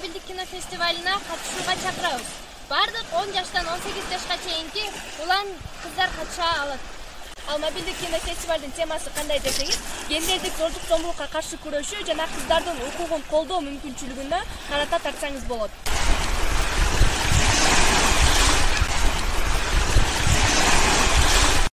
мобилдик кино фестивалына катышууга чакырабыз. Бардык 10 жаштан 18 жашка чейинки улан кыздар катыша алат. Ал мобилдик кино фестивалдын темасы кандай десеңиз, гендердик зордук-зомбулукка каршы күрөшүү жана кыздардын укугун колдоо мүмкүнчүлүгүнө карата тартсаңыз болот.